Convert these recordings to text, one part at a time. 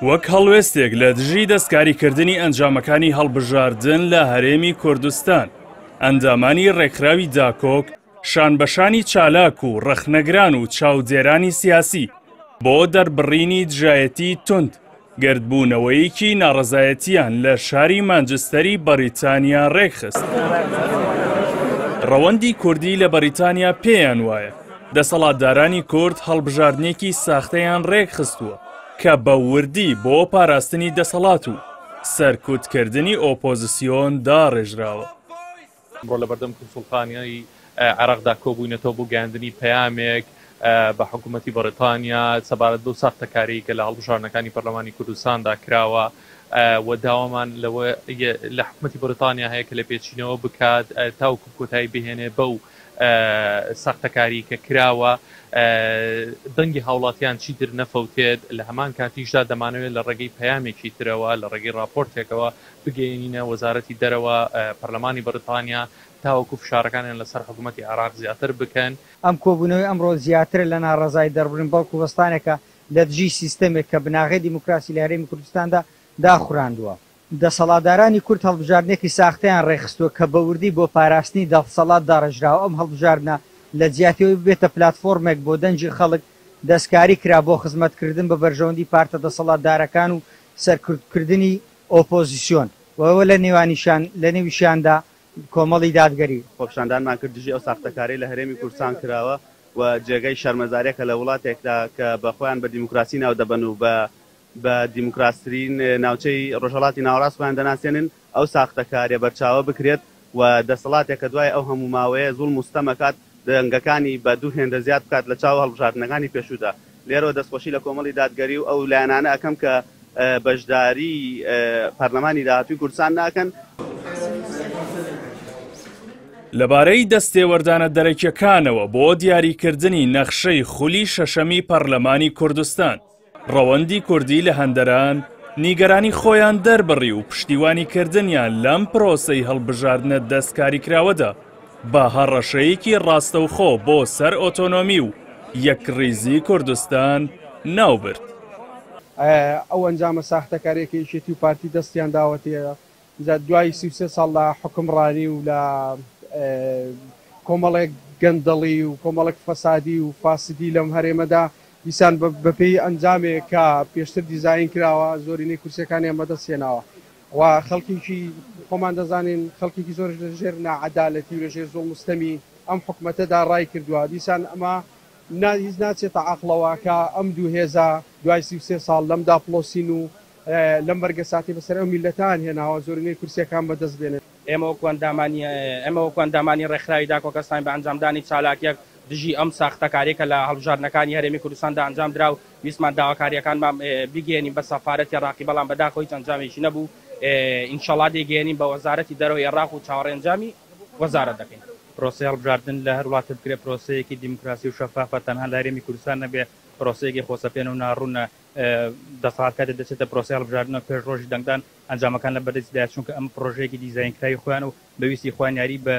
وەک هەڵوێستێک لە دژی دەستکاریکردنی ئەنجامەکانی هەڵبژاردن لە هەرێمی کوردستان، ئەندامانی ڕێکخراوی داکۆک شانبەشانی چالاک و ڕەخنەگران و چاودێرانی سیاسی بۆ دەربڕینی دژایەتی توند گردبوونەوەیەکی ناڕەزایەتییان لە شاری مانجستەری بەریتانیا ڕێکخست. ڕەوەندی کوردی لە بەریتانیا پێیان وایە دەسەڵاتدارانی کورد هەڵبژاردنێکی ساختەیان ڕێکخستووە کە بە وردی بۆ پاراستنی دەسەڵات و سەرکوتکردنی ئۆپۆزسیۆن داڕێژراوە. ئەمڕۆ لەبەردەم کونسوڵخانەی عێراقدا کۆبووینەتەوە بۆ گەیاندنی پەیامێک بە حکوومەتی بەڕیتانیا سەبارەت بەو ساختەکاریی کە لە هەڵبژاردنەکانی پەرلەمانی کوردستاندا کراوە و داوامان لەوە لە حکوومەتی بەڕیتانیا هەیە کە لێپێچینەوە بکات تاوەکو کۆتایی بهێنێ بەو ساختەکاری کە کراوە دەنگی هاوڵاتیان چیتر نەفەوتێت لە هەمان کاتیشدا دەمانەوێت لە ڕێگەی پەیامێکی ترەوە لە ڕێگەی ڕاپۆرتێکەوە بگەیەنینە وەزارەتی دەرەوە، پەرلەمانی بەریتانیا تاوەکو فشارەکانیان لەسەر حکومەتی عێراق زیاتر بکەن. ئەم کۆبوونەوەی ئەمڕۆ زیاترە لە ناڕەزایی دەربڕین، بەڵکو وەستانێکە لە دژی سیستەمێک کە بناغەی دیموکراسی لە هەرێمی کوردستاندا داخوراندووە. دەسەڵاتدارانی کورد هەڵبژاردنێکی ساختەیان ڕێکخستووە کە بە وردی بۆ پاراستنی دەسەڵات داڕێژراوە، ئەم هەڵبژاردنە لە جیاتی ئەوەی ببێتە پلاتفۆرمێک بۆ دەنگی خەڵک، دەستکاری کرا بۆ خزمەتکردن بە بەرژەوەندی پارتە دەسەڵاتدارەکان و سەرکوتکردنی ئۆپۆزیسیۆن و لە نێوانیشیان لە نێویشیاندا کۆمەڵی دادگەری. خۆپیشاندانمان کرد دژی ئەو ساختەکاریەی لە هەرێمی کوردستان کراوە و جێگەی شەرمەزاریە کە لە وڵاتێکدا کە بە خۆیان بە دیموکراسی ناو دەبەن و بە بە دیموکراسترین ناوچەی ڕۆژهەڵاتی ناوەڕاست خۆیان دەناسێنن ئەو ساختەکاریە بەرچاوە بکرێت و دەسەڵاتێک کە دوای ئەو هەموو ماوەیە زوڵم و ستەم ئەکات دەنگەکانی بە دوو هێندە زیاد بکات لە چاو هەڵبژاردنەکانی پێشوودا. لێرەوە دەستخۆشی لە کۆمەڵی دادگەری و ئەو لایەنانە ئەکەم کە بەشداری پەرلەمانی داهاتووی کوردستان ناکەن. لەبارەی دەستێوەردانە دەرەکیەکانەوە بۆ دیاریکردنی نەخشەی خولی شەشەمی پەرلەمانی کوردستان، ڕەوەندی کوردی لە هەندەران نیگەرانی خۆیان دەربڕی و پشتیوانی کردنیان لەم پرۆسەی هەڵبژاردنە دەستکاریکراوەدا بە هەڕەشەیەکی ڕاستەوخۆ بۆ سەر ئۆتۆنۆمی و یەکڕیزی کوردستان ناوبرد. ئەو ئەنجامە ساختەکاریە کە یەکێتی و پارتی دەستیان داوەتێ جا دوای 33 ساڵ لە حوکمڕانی و لە کۆمەڵێک گەندەڵی و کۆمەڵێک فەسادی و فاسدی لەم هەرێمەدا دیسان بەپێی ئەنجامێک کە پێشتر دیزاین کراوە زۆرینەی کورسیەکانیان بەدەست هێناوە و خەڵکێکی خۆمان دەزانین خەڵکێکی زۆرش لە ژێر ناعەدالەتی و لە ژێر زوڵم و ستەمی ئەم حکومەتەدا ڕای کردووە دیسان ئەمە نا هیچ ناچێتە عەقڵەوە کە ئەم دوو هێزە دوای 33 ساڵ لەم داپڵۆسین و لەم مەرگەساتەی بەسەر ئەو میللەتەیان هێناوە زۆرینەی کورسیەکان بەدەست بێنن. ئێمە وەکو ئەندامانی ئێمە وەکو ئەندامانی ڕێکخراوی داکۆکەستان بە ئەنجامدانی چالاکیەک دژی ئەم ساختەکاریە کە لە هەڵبژاردنەکانی هەرێمی کوردستاندا ئەنجام درا و ویستمان داواکاریەکانمان بیگەیەنین بە سەفارەتی عێراقی بەڵام بەداخەوە هیچ ئەنجامێکی نەبوو ئینشەڵا دەیگەیەنین بە وەزارەتی دەرەوەی عێراق و چاوەڕێی ئەنجامی وەزارەت دەکەین. پرۆسەی هەڵبژاردن لە هەر وڵاتێک بکرێت پرۆسەیەکی دیموکراسی و شەفافە تەنها لە هەرێمی کوردستان نەبێ پرۆسەیەکی خۆسەپێن و ناڕوونە دەسەڵات کاتێک دەچێتە پرۆسەی هەڵبژاردنەوە پێش ڕۆژی دەنگدان ئەنجامەکان لە بەردەستیدایە چونکە ئەمە پرۆژەیەکی دیزاینکراوی خۆیان و بە ویستی خۆیان یاری بە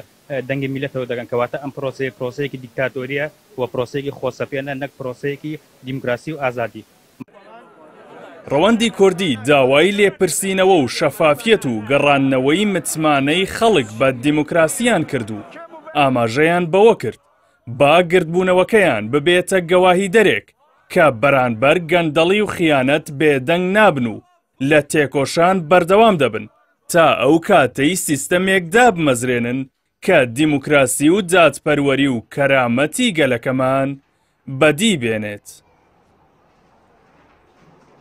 دەنگی میللەتەوە دەکەن کەواتە ئەم پرۆسەیە پرۆسەیەکی دیکتاتۆریە و پرۆسەیەکی خۆسەپێنە نەک پرۆسەیەکی دیموکراسی و ئازادی. ڕەوەندی کوردی داوای لێپرسینەوە و شەفافیەت و گەڕاندنەوەی متمانەی خەڵک بە دیموکراسیان کرد و ئاماژەیان بەوە کرد با گردبوونەوەکەیان ببێتە گەواهیدەرێک کە بەرانبەر گەندەڵی و خیانەت بێدەنگ نابن و لە تێکۆشان بەردەوام دەبن تا ئەو کاتەی سیستەمێک دابمەزرێنن کە دیموکراسی و دادپەروەری و کەرامەتی گەلەکەمان بەدی بێنێت.